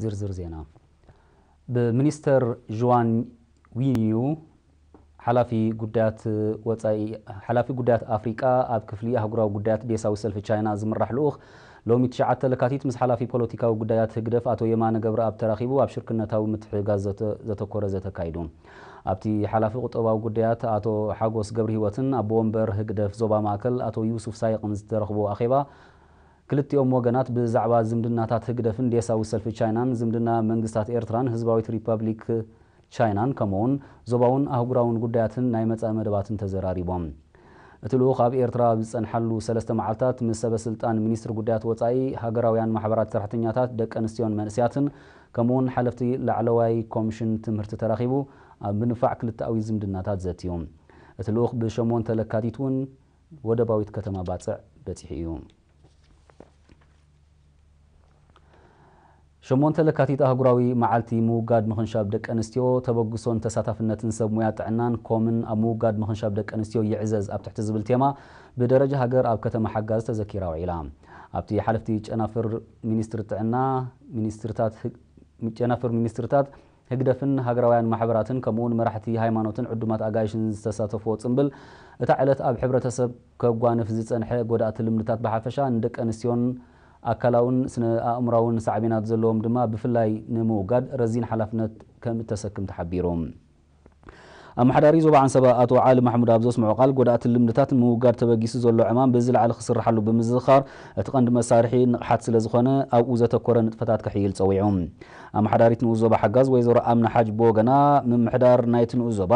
ዝርዝር ዜና። ብሚኒስተር ዥዋን ዊንዩ ሓላፊ ጉዳያት ወጻኢ፣ ሓላፊ ጉዳያት ኣፍሪቃ ኣብ ክፍሊ ኣህጉራዊ ጉዳያት ዴሳዊ ሰልፊ ቻይና ዝምራሕ ልኡኽ ሎሚ ትሽዓተ ለካቲት ምስ ሓላፊ ፖለቲካዊ ጉዳያት ህግደፍ ኣቶ የማነ ገብረኣብ ተራኺቡ ኣብ ሽርክነታዊ ምትሕግጋዝ ዘተ-፣ ዘተኮረ ዘተ ኣካይዱ። ኣብቲ ሓላፊ ቁጠባዊ ጉዳያት ኣቶ ሓጎስ ገብረሂወትን ኣቦ ወንበር ህግደፍ ዞባ ማእከል ኣቶ ዩሱፍ ሳይቕን ዝተረኽቦ ኣኼባ፣ ክልቲኦም ወገናት ብዛዕባ ዝምድናታት ህግደፍን ዴሳዊ ሰልፊ ቻይናን፣ ዝምድና መንግስታት ኤርትራን ህዝባዊት ሪፐብሊክ ቻይናን፣ ከምኡውን ዞባውን ኣህጉራውን ጉዳያትን ናይ መጻኢ መደባትን ተዘራሪቦም። እቲ ልኡኽ ኣብ ኤርትራ ኣብ ዝጸንሓሉ ሰለስተ መዓልታት ምስ ሰበ ስልጣን ሚኒስትሪ ጉዳያት ወጻኢ፣ ሃገራውያን ማሕበራት ሰራሕተኛታት፣ ደቂ ኣንስትዮን መንእሰያትን፣ ከምኡውን ሓለፍቲ ላዕለዋይ ኮሚሽን ትምህርቲ ተራኺቡ ኣብ ምንፋዕ ክልተኣዊ ዝምድናታት ዘትዩ። እቲ ልኡኽ ብሸሞንተ ለካቲት እውን ወደባዊት ከተማ ባጽዕ በጺሑ እዩ። ሸሞንተ ለካቲት ኣህጉራዊ መዓልቲ ምውጋድ ምኽንሻብ ደቂ ኣንስትዮ፣ ተበግሶን ተሳታፍነትን ሰብ ሙያ ጥዕናን ኮምን ኣብ ምውጋድ ምኽንሻብ ደቂ ኣንስትዮ ይዕዘዝ ኣብ ትሕቲ ዝብል ቴማ ብደረጃ ሃገር ኣብ ከተማ ሓጋዝ ተዘኪራ ውዒላ። ኣብቲ ሓለፍቲ ጨናፍር ሚኒስትሪ ጥዕና፣ ሚኒስትርታት ህግ-፣ ጨናፍር ሚኒስትርታት ህግደፍን ሃገራውያን ማሕበራትን ከምኡውን መራሕቲ ሃይማኖትን ዕዱማት ኣጋይሽን ዝተሳተፍዎ ጽምብል፣ እታ ዕለት ኣብ ሕብረተሰብ ከጓንፍ ዝጸንሐ ጎዳእቲ ልምድታት ብሓፈሻ ንደቂ ኣንስትዮን ኣካላውን ስነ ኣእምራውን ሳዕቤናት ዘለዎም ድማ ብፍላይ ንምውጋድ ረዚን ሓላፍነት ከም እተሰክም ተሓቢሩ። ኣመሓዳሪ ዞባ ዓንሰባ ኣቶ ዓሊ ማሕሙድ ኣብ ዘስምዖ ቃል፣ ጎዳእቲ ልምድታት ንምውጋድ ተበጊሱ ዘሎ ዕማም ብዝለዓለ ክስርሓሉ ብምዝኽኻር፣ እቲ ቀንዲ መሳርሒ ንቕሓት ስለ ዝኾነ ኣብኡ ዘተኮረ ንጥፈታት ክሕይል ጸዊዑ። ኣመሓዳሪት ንኡስ ዞባ ሓጋዝ ወይዘሮ ኣምና ሓጅ ብወገና፣ ምምሕዳር ናይቲ ንኡስ ዞባ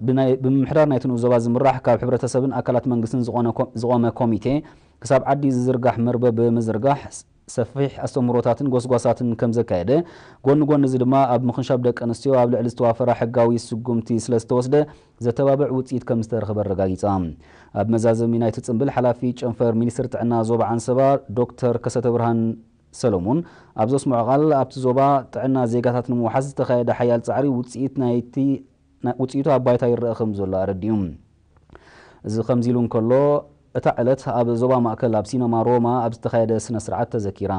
ብናይ-፣ ብምምሕዳር ናይቲ ንኡስ ዞባ ዝምራሕ ካብ ሕብረተሰብን ኣካላት መንግስትን ዝኾነ ኮ-፣ ዝቖመ ኮሚቴ ክሳብ ዓዲ ዝዝርጋሕ መርበብ ብምዝርጋሕ ሰፊሕ ኣስተምህሮታትን ጎስጓሳትን ከም ዘካየደ፣ ጎኒ ጎኒ እዚ ድማ ኣብ ምኽንሻብ ደቂ ኣንስትዮ ኣብ ልዕሊ ዝተዋፈራ ሕጋዊ ስጉምቲ ስለ ዝተወስደ ዘተባብዕ ውፅኢት ከም ዝተረኽበ ኣረጋጊፃ። ኣብ መዛዘሚ ናይቲ ጽምብል ሓላፊ ጨንፈር ሚኒስትሪ ጥዕና ዞባ ዓንሰባ ዶክተር ከሰተ ብርሃን ሰሎሙን ኣብ ዘስምዖ ቃል፣ ኣብቲ ዞባ ጥዕና ዜጋታት ንምውሓስ ዝተኻየደ ሓያል ጻዕሪ ውፅኢት ናይቲ ና-፣ ውጽኢቱ ኣብ ባይታ ይረኣ ከም ዘሎ ኣረዲኡ። እዚ ከምዚ ኢሉ እንከሎ፣ እታ ዕለት ኣብ ዞባ ማእከል ኣብ ሲነማ ሮማ ኣብ ዝተኻየደ ስነ ስርዓት ተዘኪራ።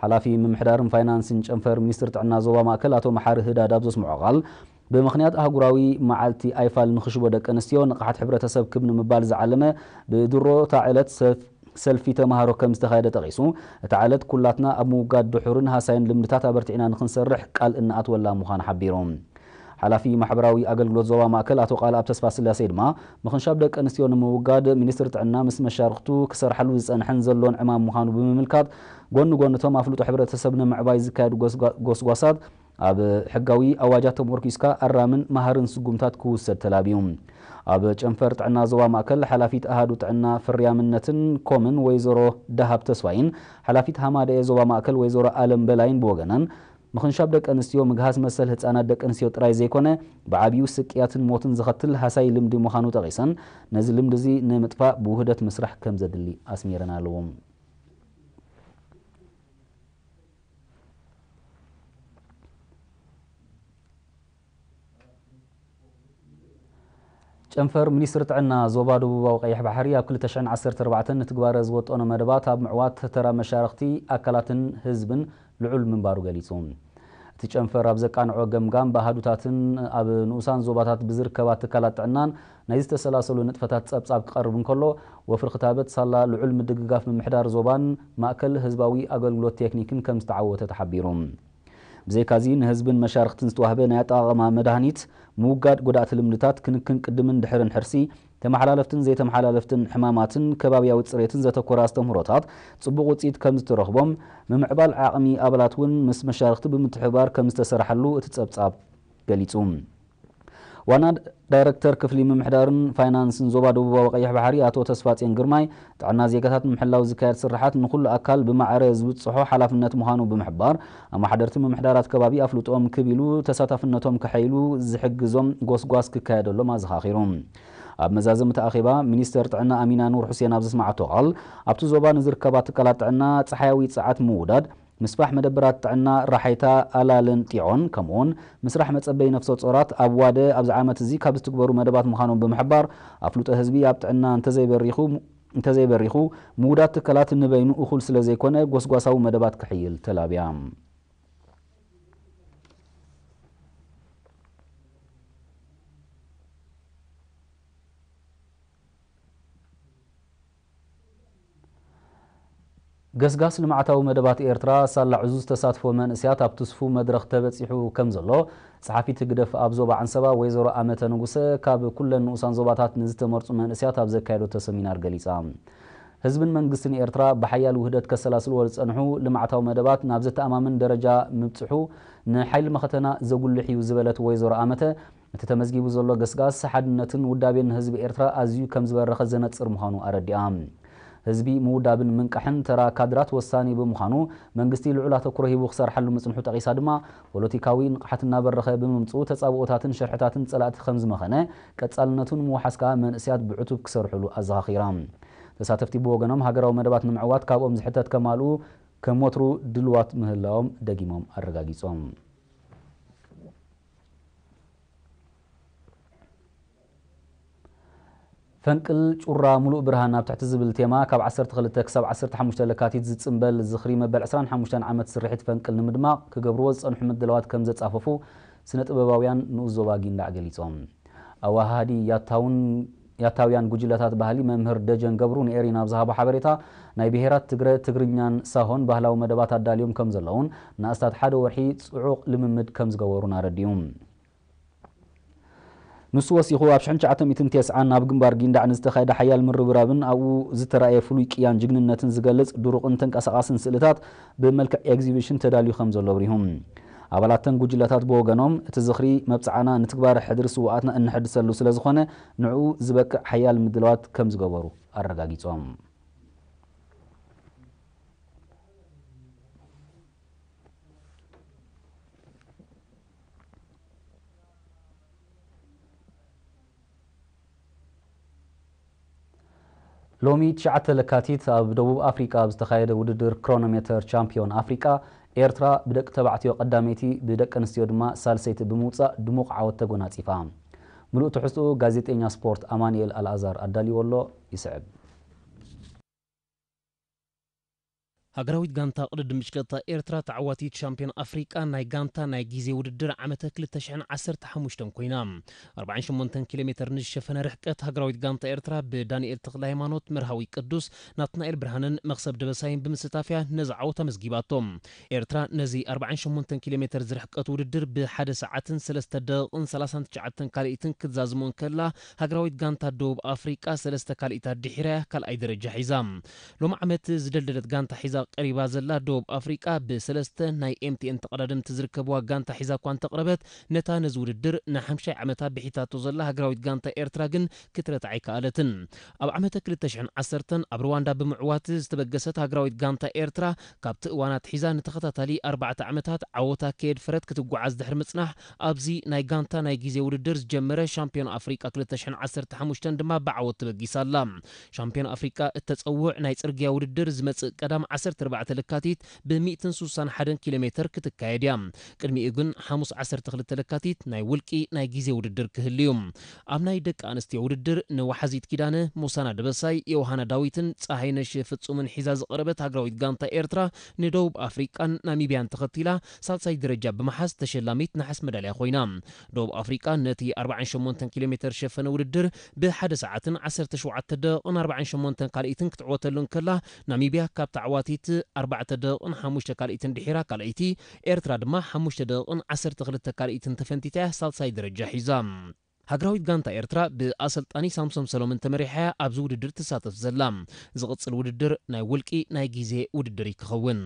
ሓላፊ ምምሕዳርን ፋይናንስን ጨንፈር ሚኒስትሪ ጥዕና ዞባ ማእከል ኣቶ መሓሪ ህዳድ ኣብ ዘስምዖ ቃል፣ ብምኽንያት ኣህጉራዊ መዓልቲ ኣይፋል ንኽሽቦ ደቂ ኣንስትዮ ንቕሓት ሕብረተሰብ ክብ ንምባል ዝዓለመ ብድሮ እታ ዕለት ሰፍ-፣ ሰልፊ ተምሃሮ ከም ዝተኻየደ ጠቒሱ፣ እታ ዕለት ኩላትና ኣብ ምውጋድ ድሑርን ሃሳይን ልምድታት ኣበርቲዕና ንኽንሰርሕ ቃል እንኣትወላ ምዃኑ ሓቢሩ። ሓላፊ ማሕበራዊ ኣገልግሎት ዞባ ማእከል ኣቶ ቃልኣብ ተስፋስላሴ ድማ፣ ምኽንሻብ ደቂ ኣንስትዮ ንምውጋድ ሚኒስትሪ ጥዕና ምስ መሻርኽቱ ክሰርሓሉ ዝጸንሐን ዘሎን ዕማም ምዃኑ ብምምልካት፣ ጎኒ ጎኒ እቶም ኣፍልጦ ሕብረተሰብ ንምዕባይ ዝካየዱ ጎስጓ-፣ ጎስጓሳት ኣብ ሕጋዊ ኣዋጃት ተመርኲስካ ኣራምን መሃርን ስጉምታት ክውሰድ ተላብዩ። ኣብ ጨንፈር ጥዕና ዞባ ማእከል ሓላፊት ኣሃዱ ጥዕና ፍርያምነትን ኮምን ወይዘሮ ደሃብ ተስፋይን ሓላፊት ሃማደኤ ዞባ ማእከል ወይዘሮ ኣለም በላይን ብወገነን፣ ምኽንሻብ ደቂ ኣንስትዮ ምግሃስ መሰል ህጻናት ደቂ ኣንስትዮ ጥራይ ዘይኮነ፣ ብዓብዩ ስቅያትን ሞትን ዘኸትል ሃሳይ ልምዲ ምዃኑ ጠቒሰን፣ ነዚ ልምዲ እዚ ንምጥፋእ ብውህደት ምስራሕ ከም ዘድሊ ኣስሚረን ኣለዎ። ጨንፈር ሚኒስትሪ ጥዕና ዞባ ደቡባዊ ቀይሕ ባሕሪ ኣብ ክልተ ሽሕን ዓሰርተ ኣርባዕተን ንትግባረ ዝወጠኖ መደባት ኣብ ምዕዋት ተራ መሻርኽቲ ኣካላትን ህዝብን ልዑል ምንባሩ ገሊጹ። እቲ ጨንፈር ኣብ ዘቃንዖ ገምጋም ብኣሃዱታትን ኣብ ንኡሳን ዞባታት ብዝርከባ ትካላት ጥዕናን ናይ ዝተሰላሰሉ ንጥፈታት ጸብጻብ ክቐርብ እንከሎ፣ ወፍሪ ክታበት ሳላ ልዑል ምድግጋፍ ምምሕዳር ዞባን ማእከል ህዝባዊ ኣገልግሎት ቴክኒክን ከም ዝተዓወተ ተሓቢሩ። ብዘይካዚ፣ ንህዝብን መሻርኽትን ዝተዋህበ ናይ ኣጠቓቕማ መድሃኒት፣ ምውጋድ ጎዳእቲ ልምድታት፣ ክንክን ቅድምን ድሕርን ሕርሲ፣ ተመሓላለፍትን ዘይተመሓላለፍትን ሕማማትን ከባብያዊ ጽሬትን ዘተኮረ ኣስተምህሮታት ጽቡቕ ውጽኢት ከም ዝተረኽቦም፣ ምምዕባል ዓቕሚ ኣባላት እውን ምስ መሻርኽቲ ብምትሕብባር ከም ዝተሰርሓሉ እቲ ጸብጻብ ገሊጹ። ዋና ዳይረክተር ክፍሊ ምምሕዳርን ፋይናንስን ዞባ ደቡባዊ ቀይሕ ባሕሪ ኣቶ ተስፋጽዮን ግርማይ፣ ጥዕና ዜጋታት ንምሕላው ዝካየድ ስርሓት ንኹሉ ኣካል ብማዕረ ዝብጽሖ ሓላፍነት ምዃኑ ብምሕባር፣ ኣመሓደርቲ ምምሕዳራት ከባቢ ኣፍልጦኦም ክብ ኢሉ ተሳታፍነቶም ከሐይሉ ዝሕግዞም ጎስጓስ ክካየደሎም ኣዘኻኺሩ። ኣብ መዛዘሚ እቲ ኣኼባ፣ ሚኒስተር ጥዕና ኣሚና ኑር ሑሴን ኣብ ዘስምዓቶ ቃል፣ ኣብቲ ዞባ ንዝርከባ ትካላት ጥዕና ጸሓያዊ ጸዓት ምውዳድ፣ ምስፋሕ መደበራት ጥዕና ራሓይታ ኣላልን ጢዖን፣ ከምኡውን ምስራሕ መጸበይ ነፍሰ ጾራት ኣብ ዋደ ኣብዚ ዓመት እዚ ካብ ዝትግበሩ መደባት ምዃኖም ብምሕባር፣ ኣፍልጦ ህዝቢ ኣብ ጥዕና እንተዘይበሪኹ፣ እንተዘይበሪኹ፣ ምውዳድ ትካላት ንበይኑ እኹል ስለ ዘይኮነ፣ ጎስጓሳዊ መደባት ክሕይል ተላብያ። ገስጋስ ልምዓታዊ መደባት ኤርትራ ሳላ ዕዙዝ ተሳትፎ መንእስያት ኣብ ትስፉ መድረኽ ተበጺሑ ከም ዘሎ፣ ጸሓፊት ህግደፍ ኣብ ዞባ ዓንሰባ ወይዘሮ ኣመተ ንጉሰ፣ ካብ ኩለን ንኡሳን ዞባታት ንዝተመርጹ መንእስያት ኣብ ዘካየደቶ ሰሚናር ገሊጻ። ህዝብን መንግስትን ኤርትራ ብሓያል ውህደት ከሰላስልዎ ዝጸንሑ ልምዓታዊ መደባት ናብ ዘተኣማምን ደረጃ ምብጽሑ፣ ንሓይሊ መኸተና ዘጉልሕ እዩ ዝበለት ወይዘሮ ኣመተ፣ እቲ ተመዝጊቡ ዘሎ ገስጋስ ሓድነትን ውዳቤን ህዝቢ ኤርትራ ኣዝዩ ከም ዝበረኸ ዘነጽር ምዃኑ ኣረዲኣ። ህዝቢ ምውዳብን ምንቃሕን ተራ ካድራት ወሳኒ ብምዃኑ፣ መንግስቲ ልዑል ኣተኩሮ ሂቡ ክሰርሓሉ ምጽንሑ ጠቒሳ ድማ፣ ፖለቲካዊ ንቕሓት እናበረኸ ብምምጽኡ፣ ተጻብኦታትን ሽርሕታትን ጸላእቲ ከም ዝመኸነ፣ ቀጻልነቱ ንምውሓስ ከኣ መንእስያት ብዕቱብ ክሰርሕሉ ኣዘኻኺራ። ተሳተፍቲ ብወገኖም፣ ሃገራዊ መደባት ንምዕዋት ካብኦም ዝሕተት ከማልኡ ከም ወትሩ ድልዋት ምህላዎም ደጊሞም ኣረጋጊጾም። ፈንቅል ጩራ ሙሉእ ብርሃን ኣብ ትሕቲ ዝብል ቴማ፣ ካብ ዓሰርተ ክልተ ክሳብ ዓሰርተ ሓሙሽተ ለካቲት ዝጽንበል ዝኽሪ መበል ዕስራን ሓሙሽተን ዓመት ስርሒት ፈንቅል ንምድማቕ ክገብርዎ ዝጸንሑ ምድላዋት ከም ዘጻፈፉ ስነ ጥበባውያን ንኡስ ዞባ ጊንዳዕ ገሊጾም። ኣወሃሃዲ ያታውን፣ ያታውያን ጉጅለታት ባህሊ መምህር ደጀን ገብሩ ንኤሪና ኣብ ዝሃቦ ሓበሬታ፣ ናይ ብሄራት ትግረ፣ ትግርኛን ሳሆን ባህላዊ መደባት ኣዳልዮም ከም ዘለውን፣ ንኣስታት ሓደ ወርሒ ጽዑቕ ልምምድ ከም ዝገበሩን ኣረዲኡ። ንሱ ወሲኹ፣ ኣብ ሽሕን ትሽዓተ ሚእትን ተስዓን ኣብ ግንባር ጊንዳዕ ንዝተኻየደ ሓያል ምርብራብን ኣብኡ ዝተራእየ ፍሉይ ቅያን ጅግንነትን ዝገልጽ ድሩቕን ተንቀሳቓስን ስእልታት ብመልክዕ ኤግዚቢሽን ተዳልዩ ከም ዘሎ ኣብሪሁ። ኣባላተን ጉጅለታት ብወገኖም፣ እቲ ዝኽሪ መብጽዓና ንትግባረ ሕድሪ ስውኣትና እንሕድሰሉ ስለ ዝኾነ፣ ንዕኡ ዝበቅዕ ሓያል ምድላዋት ከም ዝገበሩ ኣረጋጊጾም። ሎሚ ትሽዓተ ለካቲት ኣብ ደቡብ ኣፍሪቃ ኣብ ዝተኻየደ ውድድር ክሮኖሜተር ቻምፒዮን ኣፍሪቃ፣ ኤርትራ ብደቂ ተባዕትዮ ቀዳመይቲ፣ ብደቂ ኣንስትዮ ድማ ሳልሰይቲ ብምውጻእ ድሙቕ ዓወት ተጎናጺፋ። ምሉእ ትሕዝትኡ ጋዜጠኛ ስፖርት ኣማኑኤል ኣልኣዛር ኣዳልይዎ ኣሎ፣ ይስዕብ። ሃገራዊት ጋንታ ቅድድም ብሽክለታ ኤርትራ ተዓዋቲት ሻምፒዮን ኣፍሪቃ ናይ ጋንታ ናይ ግዜ ውድድር ዓመተ ክልተ ሽሕን ዓሰርተ ሓሙሽተን ኮይና። ኣርባዓን ሸሞንተን ኪሎ ሜተር ንዝሸፈነ ርሕቀት ሃገራዊት ጋንታ ኤርትራ ብዳንኤል ተኽለሃይማኖት፣ መርሃዊ ቅዱስ፣ ናትናኤል ብርሃንን መኽሰብ ደበሳይን ብምስታፍያ ነዚ ዓወት ኣመዝጊባቶ። ኤርትራ ነዚ ኣርባዓን ሸሞንተን ኪሎ ሜተር ዝርሕቀት ውድድር ብሓደ ሰዓትን ሰለስተ ደቂቕን ሰላሳን ትሽዓተን ካልኢትን ክትዛዝሞ እንከላ፣ ሃገራዊት ጋንታ ደቡብ ኣፍሪቃ ሰለስተ ካልኢታት ድሒራ ካልኣይ ደረጃ ሒዛ። ሎሚ ዓመት ዝደልደለት ጋንታ ሒዛ ቀሪባ ዘላ ደቡብ ኣፍሪቃ ብሰለስተ ናይ ኤምቲኤን ተቐዳደምቲ ዝርከብዋ ጋንታ ሒዛ እኳ እንተቕረበት፣ ነታ ነዚ ውድድር ንሓምሻይ ዓመታ ብሒታቶ ዘላ ሃገራዊት ጋንታ ኤርትራ ግን ክትረትዓ ኣይከኣለትን። ኣብ ዓመተ ክልተ ሽሕን ዓሰርተን ኣብ ሩዋንዳ ብምዕዋት ዝተበገሰት ሃገራዊት ጋንታ ኤርትራ፣ ካብቲ እዋን ኣትሒዛ ንተኸታታሊ ኣርባዕተ ዓመታት ዓወታ ከየድፈረት ክትጓዓዝ ድሕሪ ምጽናሕ፣ ኣብዚ ናይ ጋንታ ናይ ግዜ ውድድር ዝጀመረ ሻምፒዮን ኣፍሪቃ ክልተ ሽሕን ዓሰርተ ሓሙሽተን ድማ ብዓወት ተበጊሳ ኣላ። ሻምፒዮን ኣፍሪቃ እተጸውዕ ናይ ጽርግያ ውድድር ዝመጽእ ቀዳም ዓሰርተ ኣርባዕተ ለካቲት ብ ሚእትን ሱሳን ሓደን ኪሎ ሜተር ክትካየድ እያ። ቅድሚኡ ግን ሓሙስ ዓሰርተ ክልተ ለካቲት ናይ ውልቂ ናይ ግዜ ውድድር ክህሉ እዩ። ኣብ ናይ ደቂ ኣንስትዮ ውድድር ንወሓዚት ኪዳነ፣ ሞሳና ደበሳይ፣ ዮሃና ዳዊትን ጸሃይነሽ ፍጹምን ሒዛ ዝቐረበት ሃገራዊት ጋንታ ኤርትራ ንደቡብ ኣፍሪቃን ናሚብያን ተኸቲላ ሳልሳይ ደረጃ ብምሓዝ ተሸላሚት ነሓስ መዳልያ ኮይና። ደቡብ ኣፍሪቃ ነቲ ኣርባዓን ሸሞንተን ኪሎ ሜተር ዝሸፈነ ውድድር ብሓደ ሰዓትን ዓሰርተ ሸውዓተ ደቂቕን ኣርባዓን ሸሞንተን ካልኢትን ክትዕወተሉ እንከላ፣ ናሚብያ ካብ ተዓዋቲት ኣርባዕተ ደቂቕን ሓሙሽተ ካልኢትን ድሒራ ካልኣይቲ፣ ኤርትራ ድማ ሓሙሽተ ደቂቕን ዓሰርተ ክልተ ካልኢትን ተፈንቲታ እያ ሳልሳይ ደረጃ ሒዛ። ሃገራዊት ጋንታ ኤርትራ ብኣሰልጣኒ ሳምሶም ሰሎምን ተመሪሓ እያ ኣብዚ ውድድር ትሳተፍ ዘላ። ዝቕጽል ውድድር ናይ ውልቂ ናይ ግዜ ውድድር እዩ ክኸውን።